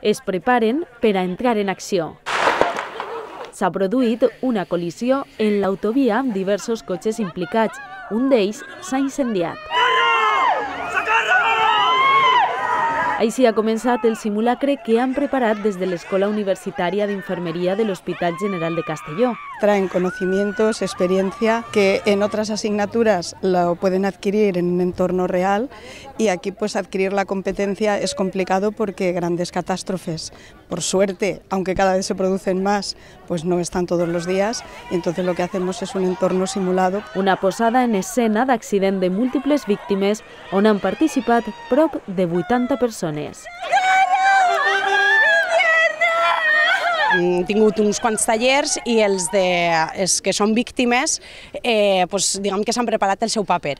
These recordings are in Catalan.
Es preparen per a entrar en acció. S'ha produït una col·lisió en l'autovia amb diversos cotxes implicats. Un d'ells s'ha incendiat. Així ha començat el simulacre que han preparat des de l'Escola Universitària d'Infermeria de l'Hospital General de Castelló. Traen conocimientos, experiencia que en otras asignaturas lo pueden adquirir en un entorno real y aquí pues adquirir la competencia es complicado porque grandes catástrofes, por suerte, aunque cada vez se producen más, pues no están todos los días y entonces lo que hacemos es un entorno simulado. Una posada en escena d'accident de múltiples víctimes on han participat prop de 80 persones. Hem tingut uns quants tallers i els que són víctimes diguem que s'han preparat el seu paper.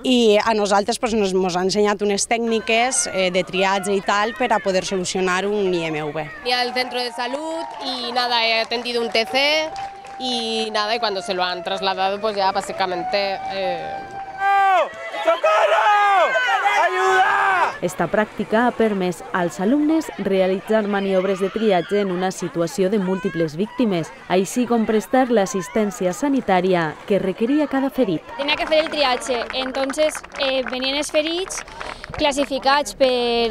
I a nosaltres ens han ensenyat unes tècniques de triatge i tal per a poder solucionar un IMV. Fui al centro de salud y nada, he atendido un TC y nada, y cuando se lo han trasladado pues ya básicamente... ¡Socorro! ¡Ayuda! Esta pràctica ha permès als alumnes realitzar maniobres de triatge en una situació de múltiples víctimes, així com prestar l'assistència sanitària que requeria cada ferit. Tenía que hacer el triatge, entonces venien els ferits classificats per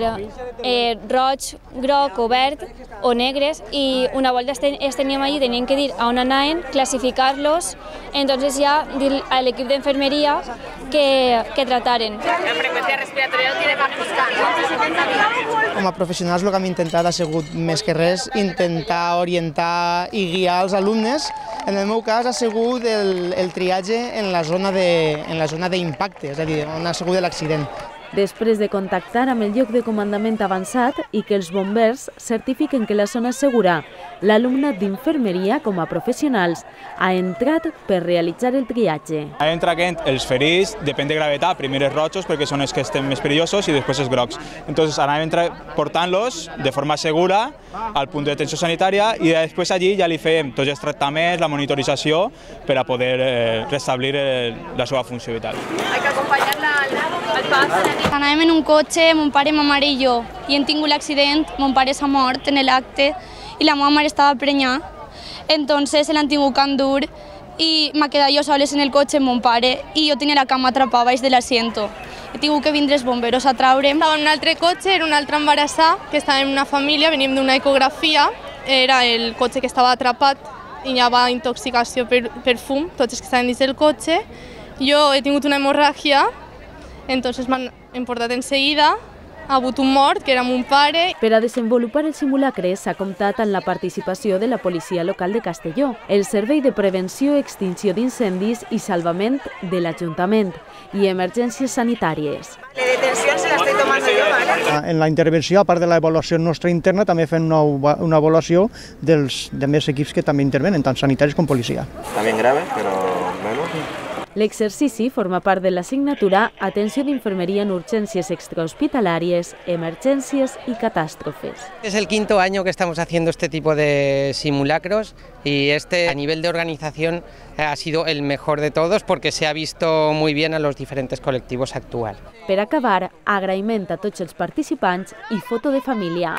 roig, groc o verd o negres i una volta els teníem allí, teníem que dir a on anaven, classificar-los, entonces ja dir a l'equip d'enfermeria que trataren. La freqüència respiratòria no tiene que buscar, ¿no? Com a professionals el que hem intentat ha sigut més que res intentar orientar i guiar els alumnes. En el meu cas ha sigut el triatge en la zona d'impacte, és a dir, on ha sigut l'accident. Després de contactar amb el lloc de comandament avançat i que els bombers certifiquen que la zona és segura, l'alumnat d'infermeria, com a professionals, ha entrat per realitzar el triatge. Ha entrat els ferits, depèn de gravetat, primer els rojos perquè són els que estan més perillosos i després els grocs. Entonces ara entrat portant-los de forma segura al punt d'atenció sanitària i després allí ja li fem tots els tractaments, la monitorització per a poder restablir la seva funció vital. Hay que acompañarla al pas. Anàvem en un cotxe, mon pare, ma mare i jo, i hem tingut l'accident, mon pare s'ha mort en l'acte i la meva mare estava prenyada, entonces se l'han tingut que endur i m'ha quedat jo soles en el cotxe amb mon pare i jo tenia la cama atrapada baix de l'asiento. He tingut que vindre els bomberos a traure'm. Estava en un altre cotxe, era un altre embarassat, que estava en una família, veníem d'una ecografia, era el cotxe que estava atrapat i hi havia intoxicació per fum, tots els que estaven dins del cotxe. Jo he tingut una hemorràgia, entonces m'han portat en seguida, ha hagut un mort, que era mon pare. Per a desenvolupar el simulacre s'ha comptat amb la participació de la policia local de Castelló, el Servei de Prevenció, Extinció d'Incendis i Salvament de l'Ajuntament i emergències sanitàries. La detenció se la estoy tomando yo, ¿vale? En la intervenció, a part de l'avaluació nostra interna, també fem una avaluació dels demés equips que també intervenen, tant sanitaris com policia. También grave, pero menos. L'exercici forma part de l'assignatura Atenció d'Infermería en Urgencias Extrahospitalarias, Emergencias y Catástrofes. Es el quinto año que estamos haciendo este tipo de simulacros y a nivel de organización ha sido el mejor de todos porque se ha visto muy bien a los diferentes colectivos actuar. Per acabar, agraïment a tots els participants i foto de família.